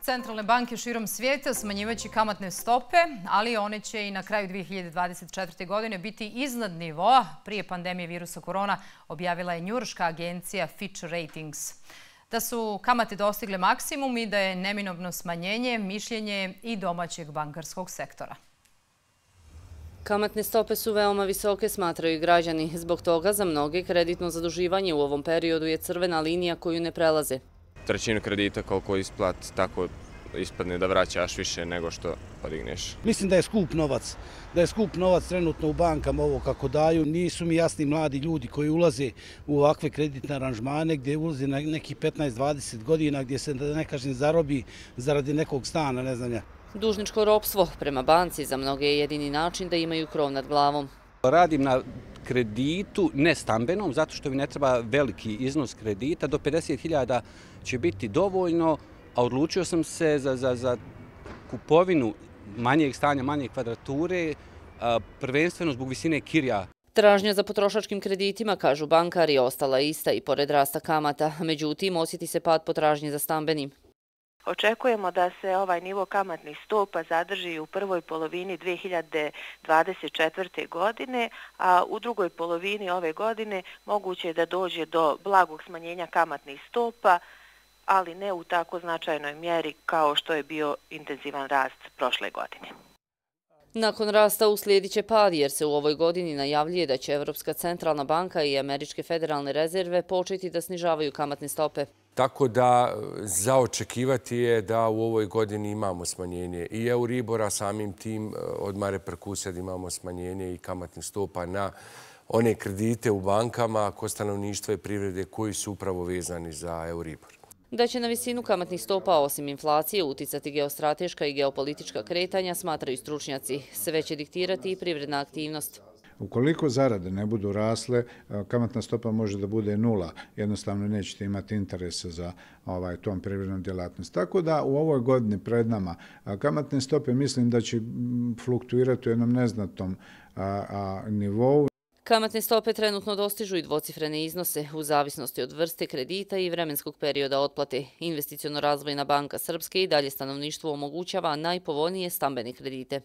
Centralne banke širom svijeta smanjivaće kamatne stope, ali one će i na kraju 2024. godine biti iznad nivoa prije pandemije virusa korona, objavila je njujorška agencija Fitch Ratings. Da su kamate dostigle maksimum i da je neminovno smanjenje mišljenje i domaćeg bankarskog sektora. Kamatne stope su veoma visoke, smatraju i građani. Zbog toga za mnoge kreditno zaduživanje u ovom periodu je crvena linija koju ne prelaze. Trećinu kredita koliko isplati, tako ispadne da vraćaš više nego što podigneš. Mislim da je skup novac. Da je skup novac trenutno u bankama ovo kako daju. Nisu mi jasni mladi ljudi koji ulaze u ovakve kreditne aranžmane gdje ulaze na nekih 15-20 godina gdje se, da ne kažem, zarobi zaradi nekog stana, ne znam ja. Dužničko ropstvo prema banci za mnoge je jedini način da imaju krov nad glavom. Radim na kreditu nestambenom, zato što mi ne treba veliki iznos kredita. Do 50.000 će biti dovoljno, a odlučio sam se za kupovinu manjeg stanja, manje kvadrature, prvenstveno zbog visine kirija. Tražnja za potrošačkim kreditima, kažu bankari, ostala ista i pored rasta kamata. Međutim, osjeti se pad potražnje za stambenim. Očekujemo da se ovaj nivo kamatnih stopa zadrži u prvoj polovini 2024. godine, a u drugoj polovini ove godine moguće je da dođe do blagog smanjenja kamatnih stopa, ali ne u tako značajnoj mjeri kao što je bio intenzivan rast prošle godine. Nakon rasta uslijedit će pad jer se u ovoj godini najavljuje da će Europska centralna banka i Američke federalne rezerve početi da snižavaju kamatne stope. Tako da za očekivati je da u ovoj godini imamo smanjenje i Euribora, samim tim odmah reperkusija da imamo smanjenje i kamatnih stopa na one kredite u bankama kod stanovništva i privrede koji su upravo vezani za Euribor. Da će na visinu kamatnih stopa osim inflacije uticati geostrateška i geopolitička kretanja, smatraju stručnjaci. Sve će diktirati i privredna aktivnost. Ukoliko zarade ne budu rasle, kamatna stopa može da bude 0. Jednostavno nećete imati interesa za tom privrednom djelatnost. Tako da u ovoj godini pred nama kamatne stope mislim da će fluktuirati u jednom neznatnom nivou. Kamatne stope trenutno dostižu i dvocifrene iznose u zavisnosti od vrste kredita i vremenskog perioda otplate. Investiciono-razvojna banka Srpske i dalje stanovništvu omogućava najpovoljnije stambene kredite.